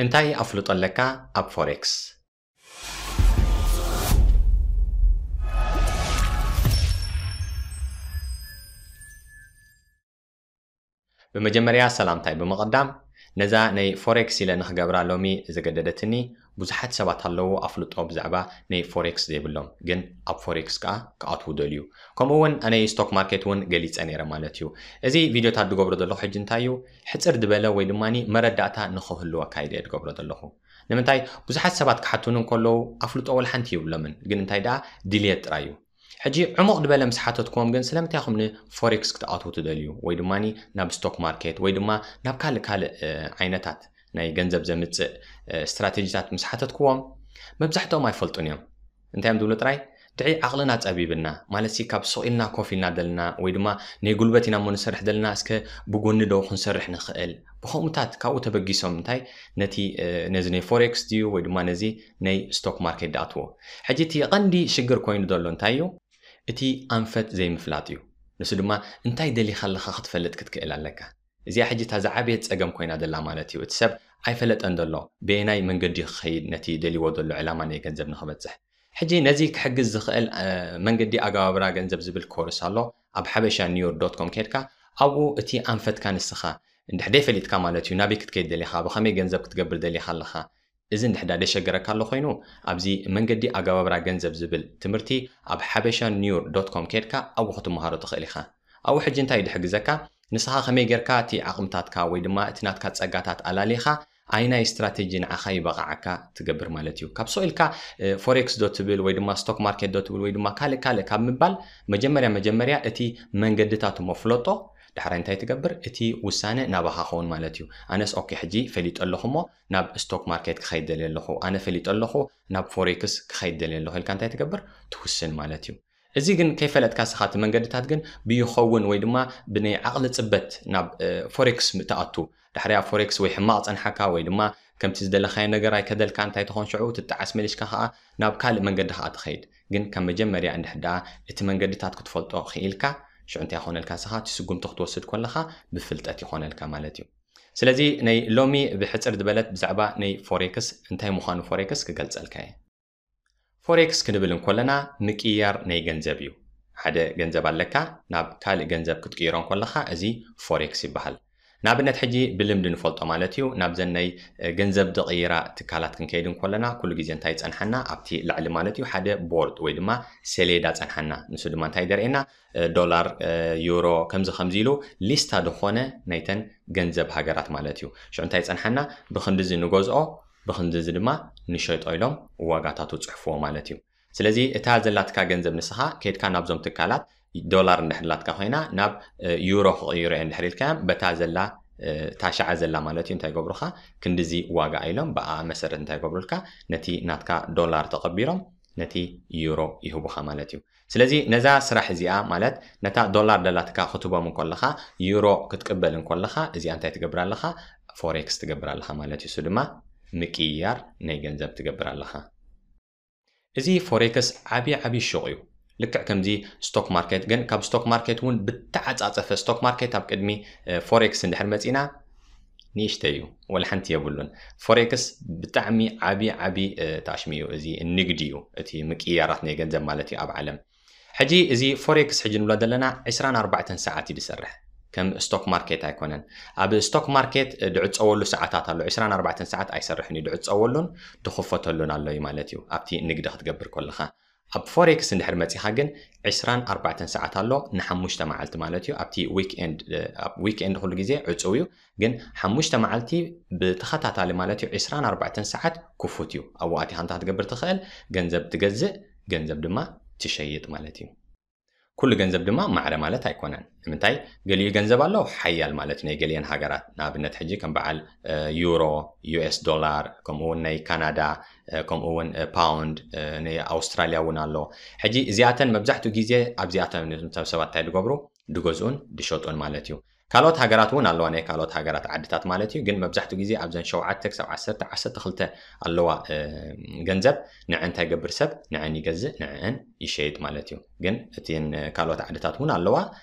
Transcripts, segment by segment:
እንታይ ኣፍልጦ ኣለካ ኣብ ፎሬክስ? ብመጀመርያ ሰላምታይ ብምቕዳም፣ ነዛ ናይ ፎሬክስ ኢለ ንኽገብራ ሎሚ ዘገደደትኒ፣ ብዙሓት ሰባት ኣለዉ ኣፍልጦ ብዛዕባ ናይ ፎሬክስ ዘይብሎም፣ ግን ኣብ ፎሬክስ ከኣ ክኣትዉ ደልዩ። ከምኡ እውን ናይ ስቶክ ማርኬት እውን ገሊጸ ነይረ ማለት እዩ። እዚ ቪድዮታት ዝገብሮ ዘለኹ ሕጂ እንታይ እዩ? ሕጽር ዝበለ ወይ ድማ መረዳእታ ንኽህልወካ ኢለ እየ ዝገብሮ ዘለኹ። ንምንታይ? ብዙሓት ሰባት ክሓቱኒ እንከለዉ ኣፍልጦ ወላ ሓንቲ የብሎምን፣ ግን እንታይ ደኣ ድልየት ጥራይ እዩ። ሕጂ ዕሙቕ ዝበለ ምስ ሓተትክዎም ግን ስለምንታይ ኢኹም ንፎሬክስ ክትኣትዉ ትደልዩ ወይ ድማ ናብ ስቶክ ማርኬት ወይ ድማ ናብ ካልእ ካልእ እ፣ ዓይነታት ናይ ገንዘብ ዘምጽእ እ፣ ስትራቴጂታት ምስ ሓተትክዎም መብዛሕትኦም ኣይፈልጡን እዮም። እንታይ እዮም ዝብሉ ጥራይ? ድዒ ዓቕልና ጸቢብና ማለት ሲ ካብ ሱቕ ኢልና ኮፍ ኢልና ዘለና ወይ ድማ ናይ ጉልበት ኢና እሞ ንሰርሕ ዘለና እስከ ብጎኒ ዶ ክንሰርሕ ንኽእል? ብኸምኡታት ካብኡ ተበጊሶም እንታይ ነቲ እ፣ ነዚ ናይ ፎሬክስ ድዩ ወይ ድማ ነዚ ናይ ስቶክ ማርኬት ድኣትዎ። ሕጂ እቲ ቀንዲ ሽግር ኮይኑ ዘሎ እንታይ እዩ? እቲ ኣንፈት ዘይምፍላጥ እዩ። ንሱ ድማ እንታይ ደሊኻ ኣለኻ ክትፈልጥ ክትክእል ኣለካ። እዚኣ ሕጂ እታ ዝዓበየት ጸገም ኮይና ዘላ ማለት እዩ። እቲ ሰብ ኣይፈለጠን ዘሎ በየናይ መንገዲ ክኸይድ ነቲ ደልይዎ ዘሎ ዕላማ ናይ ገንዘብ ንኽበጽሕ። ሕጂ ነዚ ክሕግዝ ዝኽእል እ፣ መንገዲ ኣገባብራ ገንዘብ ዝብል ኮርስ ኣሎ። ኣብ ሓበሻ ኒውር ዶት ኮም ከድካ ኣብኡ እቲ ኣንፈትካ ንስኻ እንድሕር ደይፈሊጥካ ማለት እዩ ናበይ ክትከይድ ደሊኻ ብኸመይ ገንዘብ ክትገብር ደሊኻ ኣለኻ እዚ እንድሕዳ ደሸገረካ ኣሎ ኮይኑ ኣብዚ መንገዲ ኣገባብራ ገንዘብ ዝብል ትምህርቲ ኣብ ሓበሻ ኒውር ዶት ኮም ከድካ ኣብኡ ክትመሃሮ ትኽእል ኢኻ። ኣብኡ ሕጂ እንታይ ድሕግዘካ ንስኻ ከመይ ጌርካ እቲ ዓቕምታትካ ወይ ድማ እቲ ናትካ ጸጋታት ኣላሊኻ ኣይናይ ስትራቴጂ ንዓኻ ይበቕዓካ ትገብር ማለት እዩ። ካብ ሶ ኢልካ ፎሬክስ ዶ ትብል ወይ ድማ ስቶክ ማርኬት ዶ ትብል ወይ ድማ ካልእ ካልእ ካብ ምባል መጀመርያ መጀመርያ እቲ መንገድታት እሞ ፍለጦ። ዳሕራይ እንታይ ትገብር? እቲ ውሳነ ናባኻ ኸውን ማለት እዩ። ኣነስ ኦኬ ሕጂ ፈሊጠ ኣለኹ እሞ ናብ ስቶክ ማርኬት ክኸይድ ደልየ ኣለኹ፣ ኣነ ፈሊጠ ኣለኹ ናብ ፎሬክስ ክኸይድ ደልየ ኣለኹ ኢልካ እንታይ ትገብር? ትውስን ማለት እዩ። እዚ ግን ከይፈለጥካ ስኻ እቲ መንገድታት ግን ብይኸውን ወይ ድማ ብናይ ዓቕሊ ጽበት ናብ እ፣ ፎሬክስ ምትኣቱ ዳሕሪያ ፎሬክስ ወይ ሕማቕ ጸንሓካ ወይ ድማ ከምቲ ዝደለኻዮ ነገር ኣይከደልካ እንታይ ትኾን ሽዑ ትጠዓስ መሊሽካ ከዓ ናብ ካልእ መንገዲ ከዓ ትኸይድ። ግን ካብ መጀመርያ እንድሕር ደኣ እቲ መንገድታት ክትፈልጦ ክኢልካ ሽዑ እንታይ ይኾነልካ ስኻ እቲ ስጉምቲ ክትወስድ ከለኻ ብፍልጠት ይኾነልካ ማለት እዩ። ስለዚ ናይ ሎሚ ብሕጽር ዝበለት ብዛዕባ ናይ ፎሬክስ እንታይ ምዃኑ ፎሬክስ ክገልጸልካ እየ። ፎሬክስ ክንብል እንኮለና ምቅያር ናይ ገንዘብ እዩ። ሓደ ገንዘብ ኣለካ ናብ ካልእ ገንዘብ ክትቅይሮ እንኮለኻ እዚ ፎሬክስ ይበሃል። ንኣብነት ሕጂ ብልምዲ ንፈልጦ ማለት እዩ ናብዘን ናይ ገንዘብ ዝቕይራ ትካላት ክንከይድ እንኮለና ኩሉ ግዜ እንታይ ይጸንሓና ኣብቲ ላዕሊ ማለት እዩ ሓደ ቦርድ ወይ ድማ ሰሌዳ ጸንሓና ንሱ ድማ እንታይ ደርእየና ዶላር ዩሮ ከምዚ ከምዚ ኢሉ ሊስታ ዝኾነ ናይተን ገንዘብ ሃገራት ማለት እዩ ሽዑ እንታይ ይጸንሓና ብክንድዚ ንገዝኦ ብክንድዚ ድማ ንሸጦ ኢሎም ዋጋታቱ ጽሕፍዎ ማለት እዩ ስለዚ እታ ዘላትካ ገንዘብ ንስኻ ከድካ ናብዞም ትካላት ዶላር እንድሕር ላትካ ኮይና ናብ ዩሮ ክቕይሮ እየ እንድሕር ኢልካዮም በታ ዘላ እታ ሸዓ ዘላ ማለት እዩ እንታይ ገብሩኻ ክንድዚ ዋጋ ኢሎም ብኣ መሰረት እንታይ ገብሩልካ ነቲ ናትካ ዶላር ተቐቢሮም ነቲ ዩሮ ይህቡኻ ማለት እዩ ስለዚ ነዛ ስራሕ እዚኣ ማለት ነታ ዶላር ደላትካ ክትቦም እንኮለኻ ዩሮ ክትቅበል እንኮለኻ እዚኣ እንታይ ትገብር ኣለኻ ፎሬክስ ትገብር ኣለኻ ማለት እዩ እሱ ድማ ምቅያር ናይ ገንዘብ ትገብር ኣለኻ እዚ ፎሬክስ ዓብዪ ዓብዪ ሹቕ እዩ ልክዕ ከምዚ ስቶክ ማርኬት ግን ካብ ስቶክ ማርኬት እውን ብተዓፃፀፈ ስቶክ ማርኬት ኣብ ቅድሚ ፎሬክስ እንድሕር መፂና ንእሽተ እዩ ወላ ሓንቲ የብሉን ፎሬክስ ብጣዕሚ ዓብዪ ዓብዪ ታሽሚ እዩ እዚ ንግዲ እዩ እቲ ምቅያራት ናይ ገንዘብ ማለት እዩ ኣብ ዓለም ሕጂ እዚ ፎሬክስ ሕጂ ንብሎ ዘለና ዕስራን ኣርባዕተን ሰዓት እዩ ዝሰርሕ ከም ስቶክ ማርኬት ኣይኮነን ኣብ ስቶክ ማርኬት ድዕፀወሉ ሰዓታት ኣሎ ዕስራን ኣርባዕተን ሰዓት ኣይሰርሕን እዩ ድዕፀወሉን ድኽፈተሉን ኣሎ እዩ ማለት እዩ ኣብቲ ንግዲ ክትገብር ከለኻ ኣብ ፎሬክስ እንድሕር መፂኻ ግን ዕስራን ኣርባዕተን ሰዓት ኣሎ ንሓሙሽተ መዓልቲ ማለት እዩ ኣብቲ ዊክኤንድ ኩሉ ግዜ ዕፅው እዩ ግን ሓሙሽተ መዓልቲ ብተኸታታሊ ማለት እዩ ዕስራን ኣርባዕተን ሰዓት ክፉት እዩ ኣብኡ ኣቲኻ እንታይ ክትገብር ትኽእል ገንዘብ ትገዝእ ገንዘብ ድማ ትሸይጥ ማለት እዩ ኩሉ ገንዘብ ድማ ማዕረ ማለት ኣይኮነን ንምንታይ ገሊኡ ገንዘብ ኣሎ ሓያል ማለት ናይ ገሊአን ሃገራት ንኣብነት ሕጂ ከም በዓል ዩሮ ዩኤስ ዶላር ከምኡውን ናይ ካናዳ ከምኡውን ፓውንድ ናይ ኣውስትራልያ እውን ኣሎ ሕጂ እዚኣተን መብዛሕትኡ ግዜ ኣብዚኣተን ሰባት እንታይ ዝገብሩ ድገዝኡን ድሸጡን ማለት እዩ ካልኦት ሃገራት እውን ኣለዋ ናይ ካልኦት ሃገራት ዓድታት ማለት እዩ ግን መብዛሕትኡ ግዜ ኣብዘን ሸውዓተ ክሳብ ዓሰርተ ዓሰርተ ክልተ ኣለዋ ገንዘብ ንዐ እንታይ ገብር ሰብ ንዐን ይገዝእ ንዐን ይሸይጥ ማለት እዩ ግን እቲን ካልኦት ዓድታት እውን ኣለዋ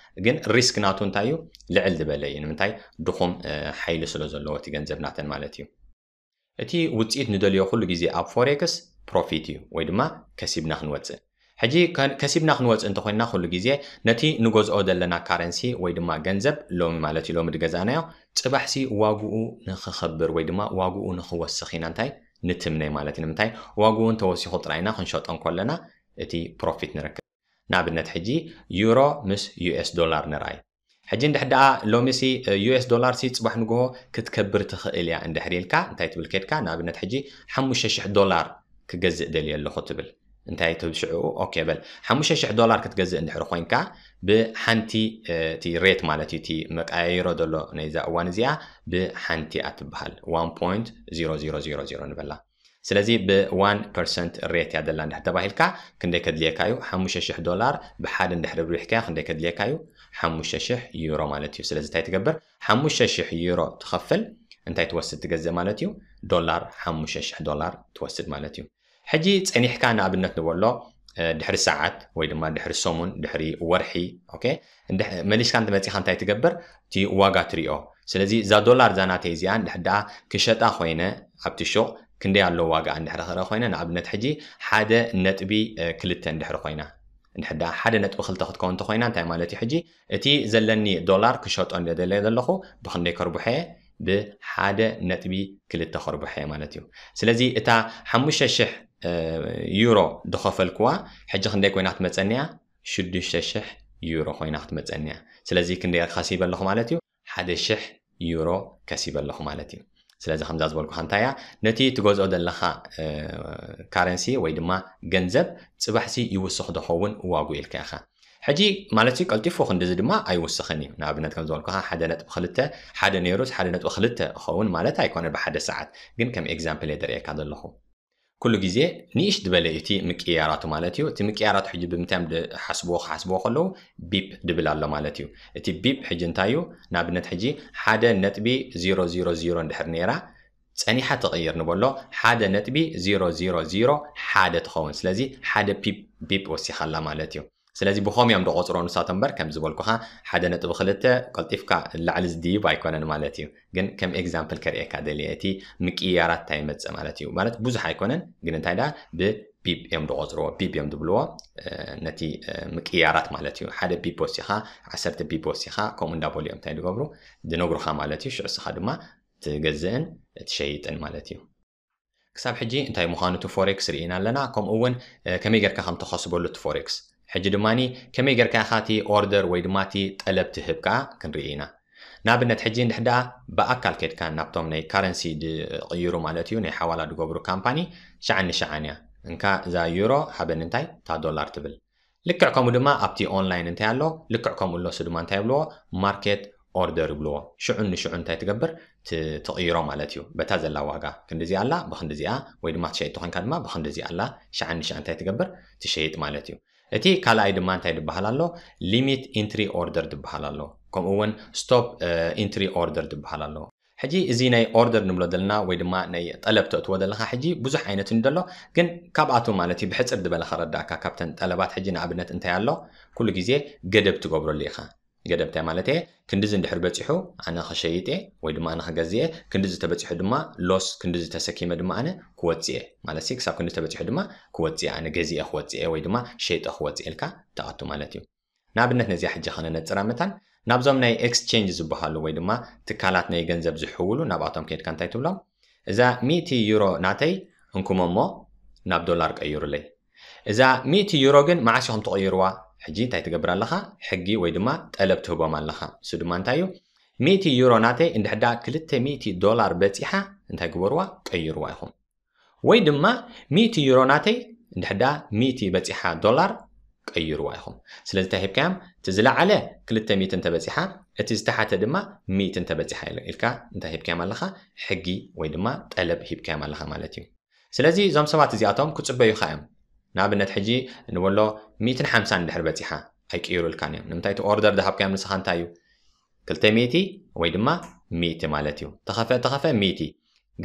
ግን ሪስክ ናቱ እንታይ እዩ ልዕል ዝበለ እዩ ንምንታይ ድኹም ሓይሊ ስለ ዘለዎ እቲ ገንዘብ ናተን ማለት እዩ እቲ ውፅኢት ንደልዮ ኩሉ ግዜ ኣብ ፎሬክስ ፕሮፊት እዩ ወይ ድማ ከሲብና ክንወፅእ። ሕጂ ከሲብና ክንወፅእ እንተኮይንና ኩሉ ግዜ ነቲ ንገዝኦ ዘለና ካረንሲ ወይ ድማ ገንዘብ ሎሚ ማለት እዩ ሎሚ ዝገዛእናዮ ፅባሕሲ ዋግኡ ንክኸብር ወይ ድማ ዋግኡ ንክወስኽ ኢና እንታይ ንትምነይ ማለት እዩ። ንምንታይ ዋግኡ እንተወሲኹ ጥራይና ክንሸጦ እንከለና እቲ ፕሮፊት ንረክብ። ንኣብነት ሕጂ ዩሮ ምስ ዩኤስ ዶላር ንርኣይ። ሕጂ እንድሕር ደኣ ሎሚሲ ዩኤስ ዶላርሲ ፅባሕ ንግሆ ክትከብር ትኽእል እያ እንድሕር ኢልካ እንታይ ትብል ከድካ ንኣብነት ሕጂ ሓሙሽተ ሽሕ ዶላር ክገዝእ ደልየ ኣለኹ ትብል እንታይ ትብል ሽዑ ኦኬ በል ሓሙሽተ ሽሕ ዶላር ክትገዝእ እንድሕር ኮይንካ ብሓንቲ እቲ ሬት ማለት እዩ እቲ መቀያየሮ ዘሎ ናይዛ እዋን እዚኣ ብሓንቲ እያ ትበሃል one point zero zero zero zero ንበላ ስለዚ ብ one percent ሬት እያ ደላ እንድሕር ተባሂልካ ክንደይ ከድልየካ እዩ ሓሙሽተ ሽሕ ዶላር ብሓደ እንድሕር ርቢሕካዮ ክንደይ ከድልየካ እዩ ሓሙሽተ ሽሕ ዩሮ ማለት እዩ ስለዚ እንታይ ትገብር ሓሙሽተ ሽሕ ዩሮ ትኸፍል እንታይ ትወስድ ትገዝእ ማለት እዩ ዶላር ሓሙሽተ ሽሕ ዶላር ትወስድ ማለት እዩ ሕጂ ጸኒሕካ ንኣብነት ንበሎ ድሕሪ ሰዓት ወይ ድማ ድሕሪ ሰሙን ድሕሪ ወርሒ መሊስካ እንትመፂኻ እንታይ ትገብር እቲ ዋጋ ትሪኦ ስለዚ እዛ ዶላር እዛ ናተይ እዚኣ እንድሕር ደኣ ክሸጣ ኮይነ ኣብቲ ሹቕ ክንደይ ኣሎ ዋጋ እንድሕር ክርኢ ኮይነ ንኣብነት ሕጂ ሓደ ነጥቢ ክልተ እንድሕር ኮይና እንድሕር ደኣ ሓደ ነጥቢ ክልተ ክትከውን እንተኮይና እንታይ ማለት እዩ ሕጂ እቲ ዘለኒ ዶላር ክሸጦ እንደደለየ ዘለኹ ብክንደይ ከርብሖ እየ ብሓደ ነጥቢ ክልተ ከርብሖ እየ ማለት እዩ ስለዚ እታ ሓሙሽተ ሽሕ ዩሮ ዝኸፈልክዋ ሕጂ ክንደይ ኮይና ክትመፀኒ እያ ሽዱሽተ ሽሕ ዩሮ ኮይና ክትመፀኒ እያ ስለዚ ክንደይ ከሲበ ኣለኹ ማለት እዩ ሓደ ሽሕ ዩሮ ከሲበ ኣለኹ ማለት እዩ ስለዚ ከምዛ ዝበልኩኻ እንታይ እያ ነቲ ትገዝኦ ዘለኻ ካረንሲ ወይ ድማ ገንዘብ ፅባሕሲ ይውስኽ ዝኸውን ዋጉ ኢልካ ኢኻ ሕጂ ማለት ቀልጢፉ ክንዲዚ ድማ ኣይውስኽን እዩ ንኣብነት ከም ዝበልኩኻ ሓደ ነጥቢ ክልተ ሓደ ነይሩስ ሓደ ነጥቢ ክልተ ኸውን ማለት ኣይኮነ ብሓደ ሰዓት ግን ከም ኤግዛምፕል እየ ደርእየካ ዘለኹ ኩሉ ግዜ ንእሽ ዝበለ እቲ ምቅያራቱ ማለት እዩ እቲ ምቅያራቱ ሕጂ ብምንታይ ሓስብዎ ክሓስብዎ ከለዉ ቢፕ ድብል ኣሎ ማለት እዩ እቲ ቢፕ ሕጂ እንታይ እዩ ንኣብነት ሕጂ ሓደ ነጥቢ ዜሮ ዜሮ ዜሮ እንድሕር ነይራ ጸኒሓ ትቕይር ንበሎ ሓደ ነጥቢ ዜሮ ዜሮ ዜሮ ሓደ ትኸውን ስለዚ ሓደ ፒፕ ቢፕ ወሲኻላ ማለት እዩ ስለዚ ብኸም እዮም ዝቆፅሮ ንሳቶም እምበር ከም ዝበልኩኻ ሓደ ነጥቢ ክልተ ቀልጢፍካ ላዕሊ ዝድይብ ኣይኮነን ማለት እዩ ግን ከም ኤግዛምፕል ከርእየካ ደልየ እቲ ምቅያራት እንታይ ይመፅእ ማለት እዩ ማለት ብዙሕ ኣይኮነን ግን እንታይ ዳ ብቢብ እዮም ዝቆፅርዎ ቢብ እዮም ዝብልዎ ነቲ ምቅያራት ማለት እዩ ሓደ ቢብ ወሲኻ ዓሰርተ ቢብ ወሲኻ ከምኡ እንዳበሉ እዮም እንታይ ዝገብሩ ዝነግሩኻ ማለት እዩ ሽዑ ስኻ ድማ ትገዝእን ትሸይጥን ማለት እዩ ክሳብ ሕጂ እንታይ ምዃኑ እቲ ፎሬክስ ርኢና ኣለና ከምኡ እውን ከመይ ጌርካ ከም ተኸስበሉ እቲ ፎሬክስ ሕጂ ድማ ከመይ ጌርካ ኢኻ እቲ ኦርደር ወይ ድማ እቲ ጠለብ ትህብ ከዓ ክንርኢ ኢና ንኣብነት ሕጂ እንድሕር ደኣ ብኣካል ከድካ ናብቶም ናይ ካረንሲ ዝቕይሩ ማለት እዩ ናይ ሓዋላ ዝገብሩ ካምፓኒ ሸዓን ንሸዓን እያ እንካ እዛ ዩሮ ሃበኒ እንታይ እታ ዶላር ትብል ልክዕ ከምኡ ድማ ኣብቲ ኦንላይን እንታይ ኣሎ ልክዕ ከምኡ ኣሎ እሱ ድማ እንታይ ይብልዎ ማርኬት ኦርደር ይብልዎ ሽዑን ንሽዑ እንታይ ትገብር ትቕይሮ ማለት እዩ በታ ዘላ ዋጋ ክንዲዚኣ ኣላ ብክንዲዚኣ ወይ ድማ ትሸይጥ ተኾንካ ድማ ብክንዲዚኣ ኣላ ሸዓን ንሸዓን እንታይ ትገብር ትሸይጥ ማለት እዩ እቲ ካልኣይ ድማ እንታይ ዝበሃል ኣሎ ሊሚት ኢንትሪ ኦርደር ዝበሃል ኣሎ ከምኡ እውን ስቶፕ ኢንትሪ ኦርደር ዝበሃል ኣሎ ሕጂ እዚ ናይ ኦርደር ንብሎ ዘለና ወይ ድማ ናይ ጠለብ ተእትዎ ዘለካ ሕጂ ብዙሕ ዓይነት እንደሎ ግን ካብኣቶም ማለት እዩ ብሕፅር ዝበለ ከረዳእካ ካብተን ጠለባት ሕጂ ንኣብነት እንታይ ኣሎ ኩሉ ግዜ ገደብ ትገብረሉ ኢኻ ገደብ እንታይ ማለት እየ ክንድዚ እንድሕር በፂሑ ኣነ ክሸይጥ እየ ወይ ድማ ኣነ ክገዝእ እየ ክንድዚ ተበፂሑ ድማ ሎስ ክንድዚ ተሰኪመ ድማ ኣነ ክወፅእ እየ ማለት ክሳብ ክንዲ ተበፂሑ ድማ ክወፅእ እየ ኣነ ገዚአ ክወፅእ እየ ወይ ድማ ሸይጠ ክወፅእ ኢልካ ትኣቱ ማለት እዩ ንኣብነት ነዚኣ ሕጂ ከነነፅራ መታን ናብዞም ናይ ኤክስቼንጅ ዝበሃሉ ወይ ድማ ትካላት ናይ ገንዘብ ዝሕውሉ ናብኣቶም ከድካ እንታይ ትብሎም እዛ ሚእቲ ዩሮ ናተይ እንኩሞ እሞ ናብ ዶላር ቀይሩለይ እዛ ሚእቲ ዩሮ ግን መዓስ ኢኹም ትቕይርዋ ሕጂ እንታይ ትገብር ኣለኻ ሕጊ ወይ ድማ ጠለብ ትህቦም ኣለኻ እሱ ድማ እንታይ እዩ ሚእቲ ዩሮ ናተይ እንድሕዳ ክልተ ሚእቲ ዶላር በፂሓ እንታይ ግበርዋ ቀይርዋ ኢኹም ወይ ድማ ሚእቲ ዩሮ ናተይ እንድሕዳ ሚእቲ በፂሓ ዶላር ቀይርዋ ኢኹም ስለዚ እንታይ ሂብካዮም እቲ ዝለዓለ ክልተ ሚእቲ እንተበፂሓ እቲ ዝተሓተ ድማ ሚእቲ እንተበፂሓ ኢልካ እንታይ ሂብካዮም ኣለኻ ሕጊ ወይ ድማ ጠለብ ሂብካዮም ኣለኻ ማለት እዩ ስለዚ እዞም ሰባት እዚኣቶም ክፅበዩኻ እዮም ንኣብነት ሕጂ ንበሎ ሚእትን ሓምሳን እንድሕር በፂሓ ኣይቅይሩልካን እዮም ንምንታይ እቲ ኦርደር ዝሃብካዮም ንስኻ እንታይ እዩ ክልተ ሚእቲ ወይ ድማ ሚእቲ ማለት እዩ ተኸፈ ተኸፈ ሚእቲ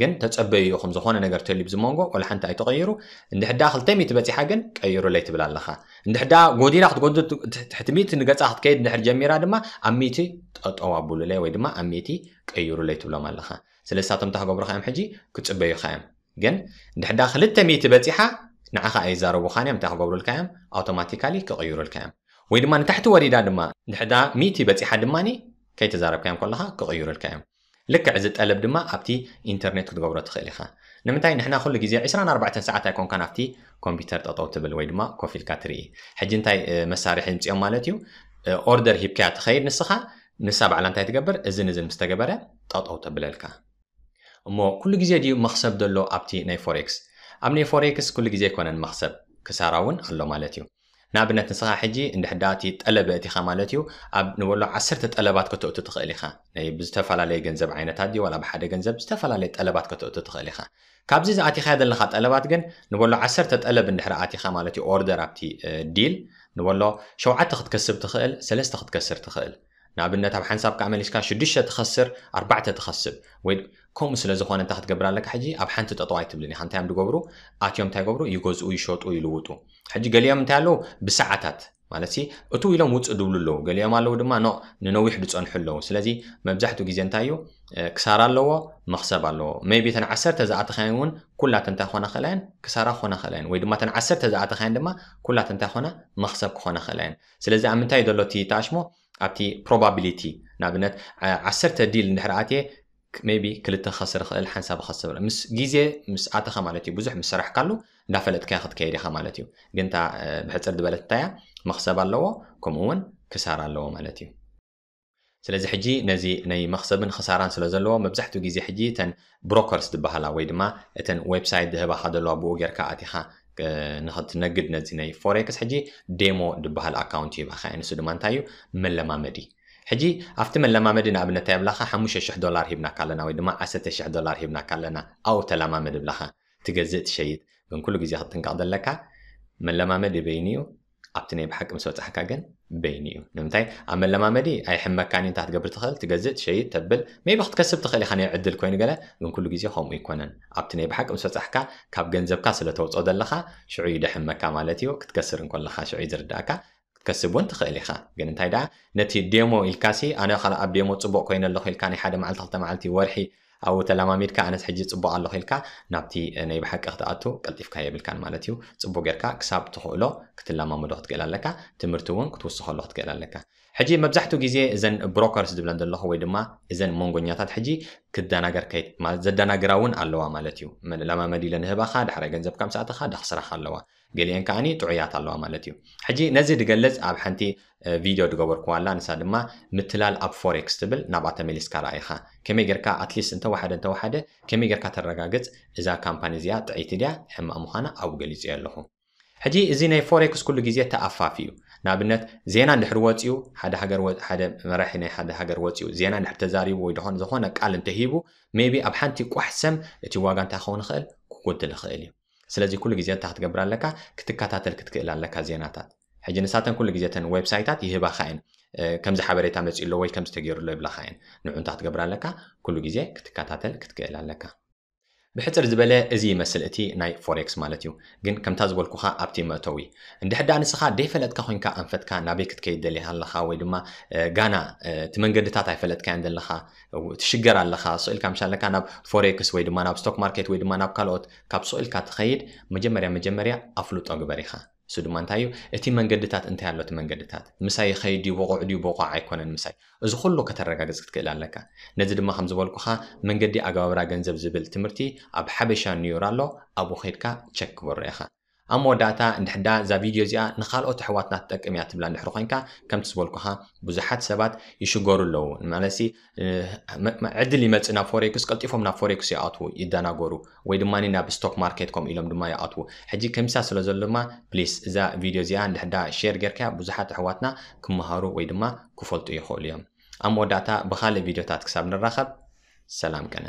ግን ተጸበዩ ኢኹም ዝኾነ ነገር ተልዩ ብዝመንጎ ወላ ሓንቲ ኣይተቐይሩ እንድሕዳ ክልተ ሚእቲ በጺሓ ግን ቀይሩለይ ትብል ኣለኻ እንድሕዳ ጎዲላ ክትጎዱ ትሕቲ ሚእቲ ንገጻ ክትከይድ እንድሕር ጀሚራ ድማ ኣብ ሚእቲ ጠጠው ኣብሉለይ ወይ ድማ ኣብ ሚእቲ ቀይሩለይ ትብሎም ኣለኻ ስለዚ ንሳቶም እንታይ ክገብሩኻ እዮም? ሕጂ ክጽበዩኻ እዮም። ግን እንድሕዳ ክልተ ሚእቲ በጺሓ ንዓኻ ኣይዛረቡኻን እዮም። እንታይ ክገብሩልካ እዮም? ኣውቶማቲካሊ ክቕይሩልካ እዮም። ወይ ድማ ንታሕቲ ወሪዳ ድማ እንድሕዳ ሚእቲ በጺሓ ድማ ከይተዛረብካዮም ከለኻ ክቕይሩልካ እዮም። ልክዕ እዚ ጠለብ ድማ ኣብቲ ኢንተርኔት ክትገብሮ ትኽእል ኢኻ። ንምንታይ ንሕና ኩሉ ግዜ ዕስራን ኣርባዕተን ሰዓት ኣይኮንካን ኣብቲ ኮምፒውተር ጠጠው ትብል ወይ ድማ ኮፍ ኢልካ ትርኢ። ሕጂ እንታይ መሳርሒ ምፅኦም ማለት እዩ? ኦርደር ሂብካያ ትኸይድ ንስኻ፣ ንሳ ባዕላ እንታይ ትገብር? እዝን እዝን ምስ ተገበረ ጠጠው ተብለልካ። እሞ ኩሉ ግዜ ድዩ መኽሰብ ዘሎ ኣብቲ ናይ ፎሬክስ? ኣብ ናይ ፎሬክስ ኩሉ ግዜ ኣይኮነን መኽሰብ፣ ክሳራ እውን ኣሎ ማለት እዩ። ንኣብነት ንስኻ ሕጂ እንድሕዳ እቲ ጠለብ እቲኻ ማለት እዩ፣ ኣብ ንበሎ ዓሰርተ ጠለባት ከተእቱ ትኽእል ኢኻ። ናይ ብዝተፈላለየ ገንዘብ ዓይነታት ድዩ ዋላ ብሓደ ገንዘብ ዝተፈላለየ ጠለባት ከተእቱ ትኽእል ኢኻ። ካብዚ ዝኣቲኻዮ ዘለኻ ጠለባት ግን ንበሎ ዓሰርተ ጠለብ እንድሕር ኣቲኻ ማለት እዩ፣ ኦርደር ኣብቲ ዲል ንበሎ ሸውዓተ ክትከስብ ትኽእል፣ ሰለስተ ክትከስር ትኽእል። ንኣብነት ኣብ ሓንሳብ ከዓ መሊስካ ሽዱሽተ ትኸስር፣ ኣርባዕተ ትኸስብ ወይ ከምኡ ስለ ዝኾነ እንታይ ክትገብር ኣለካ? ሕጂ ኣብ ሓንቲ ጠጠው ኣይትብልን ኢኻ። እንታይ እዮም ዝገብሩ? ኣትዮም እንታይ ይገብሩ? ይገዝኡ፣ ይሸጡ፣ ይልውጡ። ሕጂ ገሊኦም እንታይ ኣለዉ? ብሰዓታት ማለት ሲ እቱ ኢሎም ውፅእ ድብሉ ኣለዉ። ገሊኦም ኣለዉ ድማ ኖ ንነዊሕ ድፀንሑ ኣለዉ። ስለዚ መብዛሕትኡ ግዜ እንታይ እዩ? ክሳራ ኣለዎ፣ መኽሰብ ኣለዎ። ሜቢ ተን ዓሰርተ ዝኣተኻየን እውን ኩላተን እንታይ ክኾና ክእላ እየን? ክሳራ ክኾና ክእላ እየን። ወይ ድማ ተን ዓሰርተ ዝኣተኻየን ድማ ኩላተን እንታይ ክኾና? መኽሰብ ክኾና ክእላ እየን። ስለዚ ኣብ ምንታይ ዘሎ እቲ ተኣሽሞ? ኣብቲ ፕሮባቢሊቲ። ንኣብነት ዓሰርተ ዲል እንድሕር ኣትየ ሜቢ ክልተ ክኸስር ይኽእል፣ ሓንሳብ ክኸስር ምስ ግዜ ምስ ኣተኻ ማለት እዩ። ብዙሕ ምስ ሰራሕካሉ እንዳፈለጥካያ ክትከይድ ኢኻ ማለት እዩ። ግን እታ ብሕፅር ዝበለት እንታይ እያ? መኽሰብ ኣለዎ፣ ከምኡ እውን ክሳራ ኣለዎ ማለት እዩ። ስለዚ ሕጂ ነዚ ናይ መኽሰብን ክሳራን ስለ ዘለዎ መብዛሕትኡ ግዜ ሕጂ እተን ብሮከርስ ዝበሃላ ወይ ድማ እተን ዌብሳይት ዝህባኻ ዘለዋ ብኡ ጌርካ ኣቲኻ ንኽትነግድ ነዚ ናይ ፎሬክስ ሕጂ ዴሞ ዝበሃል ኣካውንት ይህባኻ እየ። ንሱ ድማ እንታይ እዩ? መለማመዲ። ሕጂ ኣብቲ መለማመዲ ንኣብነት እንታይ ይብላኻ? ሓሙሽተ ሽሕ ዶላር ሂብናካ ኣለና ወይ ድማ ዓሰርተ ሽሕ ዶላር ሂብናካ ኣለና፣ ኣብኡ ተለማመድ ይብላኻ። ትገዝእ ትሸይጥ። ግን ኩሉ ግዜ ክትጥንቀቕ ዘለካ መለማመዲ በይኑ እዩ፣ ኣብቲ ናይ ብሓቂ ምስ በጻሕካ ግን በይኑ እዩ። ንምንታይ? ኣብ መለማመዲ ኣይሕመካን እዩ፣ እንታይ ክትገብር ትኽእል? ትገዝእ ትሸይጥ ተብል፣ ሜቢ ክትከስብ ትኽእል ኢኻ ናይ ዕድል ኮይኑ ገለ፣ ግን ኩሉ ግዜ ከምኡ ኣይኮነን። ኣብቲ ናይ ብሓቂ ምስ በጻሕካ ካብ ገንዘብካ ስለ ተውፅኦ ዘለኻ ሽዑ እዩ ደሕመካ ማለት እዩ። ክትከስር እንከለኻ ሽዑ እዩ ዝርዳእካ። ክትከስብ እውን ትኽእል ኢኻ። ግን እንታይ ደኣ ነቲ ዴሞ ኢልካሲ ኣነ ካልእ ኣብ ዴሞ ፅቡቕ ኮይነ ኣለኹ ኢልካ ናይ ሓደ መዓልቲ ክልተ መዓልቲ ወርሒ ኣብኡ ተለማሚድካ ኣነስ ሕጂ ፅቡቕ ኣለኹ ኢልካ ናብቲ ናይ ብሓቂ ክትኣቱ ቀልጢፍካ የብልካን ማለት እዩ። ፅቡቕ ጌርካ ክሳብ ትኽእሎ ክትለማመዶ ክትክእል ኣለካ። ትምህርቲ እውን ክትውስኸሉ ክትክእል ኣለካ። ሕጂ መብዛሕትኡ ግዜ እዘን ብሮከርስ ዝብለን ዘለኹ ወይ ድማ እዘን መንጎኛታት ሕጂ ክደናገር ከይ- ማለት ዘደናግራ እውን ኣለዋ ማለት እዩ። መለማመዲ ኢለን ንህባኻ ዳሕራይ ገንዘብካ ምስ ኣተኻ ደኽስራኻ ኣለዋ። ገሊአን ከዓኒ ጥዑያት ኣለዋ ማለት እዩ። ሕጂ ነዚ ድገልጽ ኣብ ሓንቲ ቪድዮ ድገበርኩዋ ኣላ፣ ንሳ ድማ ምትላል ኣብ ፎሬክስ ትብል፣ ናብኣ ተመሊስካ ረኣይኻ ከመይ ጌርካ ኣትሊስት እንተወሓደ እንተወሓደ ከመይ ጌርካ ተረጋግጽ እዛ ካምፓኒ እዚኣ ጥዕይቲ ድያ ሕማቕ ምዃና ኣብኡ ገሊጸዮ ኣለኹ። ሕጂ እዚ ናይ ፎሬክስ ኩሉ ግዜ ተኣፋፊ እዩ። ንኣብነት ዜና እንድሕር ወፂኡ ሓደ ሃገር ወ- ሓደ መራሒ ናይ ሓደ ሃገር ወፂኡ ዜና እንድሕር ተዛሪቡ ወይ ድኾን ዝኾነ ቃል እንተሂቡ ሜቢ ኣብ ሓንቲ ቋሕ ሰም እቲ ዋጋ እንታይ ክኸውን ይኽእል? ክጎድል ይኽእል እዩ። ስለዚ ኩሉ ግዜ እንታይ ክትገብር ኣለካ? ክትከታተል ክትክእል ኣለካ ዜናታት። ሕጂ ንሳተን ኩሉ ግዜ ተን ዌብሳይታት ይህባኻ እየን። ከምዚ ሓበሬታ መፂኡ ኣሎ ወይ ከምዚ ተገይሩ ኣሎ ይብላኻ እየን። ንዑ እንታይ ክትገብር ኣለካ? ኩሉ ግዜ ክትከታተል ክትክእል ኣለካ። ብሕፅር ዝበለ እዚ ይመስል እቲ ናይ ፎሬክስ ማለት እዩ። ግን ከምታ ዝበልኩኻ ኣብቲ መእተዊ እንድሕር ደኣ ንስኻ ደይፈለጥካ ኮይንካ ኣንፈትካ ናበይ ክትከይድ ደሊኻ ኣለኻ ወይ ድማ ጋና እቲ መንገድታት ኣይፈለጥካያን ዘለኻ ትሽገር ኣለኻ ስኢልካ ምሻ ኣለካ ናብ ፎሬክስ ወይ ድማ ናብ ስቶክ ማርኬት ወይ ድማ ናብ ካልኦት ካብ ስኢልካ ትኸይድ መጀመርያ መጀመርያ ኣፍልጦ ግበር ኢኻ። እሱ ድማ እንታይ እዩ? እቲ መንገድታት እንታይ ኣሎ? እቲ መንገድታት ምሳይ ይኸይድ ድዩ? ብቑዕ ድዩ? ብቑዕ ኣይኮነን ምሳይ? እዚ ኩሉ ከተረጋግጽ ክትክእል ኣለካ። ነዚ ድማ ከም ዝበልኩኻ መንገዲ ኣገባብራ ገንዘብ ዝብል ትምህርቲ ኣብ ሓበሻ ኒውር ኣሎ፣ ኣብኡ ኸይድካ ቸክ ክበሮ ኢኻ። ኣብ መወዳእታ እንድሕዳ እዛ ቪድዮ እዚኣ ንኻልኦት ኣሕዋትና ትጠቅም እያ ትብላ እንድሕር ኮይንካ ከምቲ ዝበልኩኻ ብዙሓት ሰባት ይሽገሩ ኣለዉ። ማለትሲ ዕድል ይመጽእ ናብ ፎሬክስ፣ ቀልጢፎም ናብ ፎሬክስ ይኣትዉ፣ ይደናገሩ። ወይ ድማ ናብ ስቶክ ማርኬት ከምኡ ኢሎም ድማ ይኣትዉ። ሕጂ ከምሳ ስለ ዘሎ ድማ ፕሊስ እዛ ቪድዮ እዚኣ እንድሕዳ ሼር ጌርካያ ብዙሓት ኣሕዋትና ክመሃሩ ወይ ድማ ክፈልጡ ይኽእሉ እዮም። ኣብ መወዳእታ ብኻልእ ቪድዮታት ክሳብ ንራኸብ ሰላም ቅነ።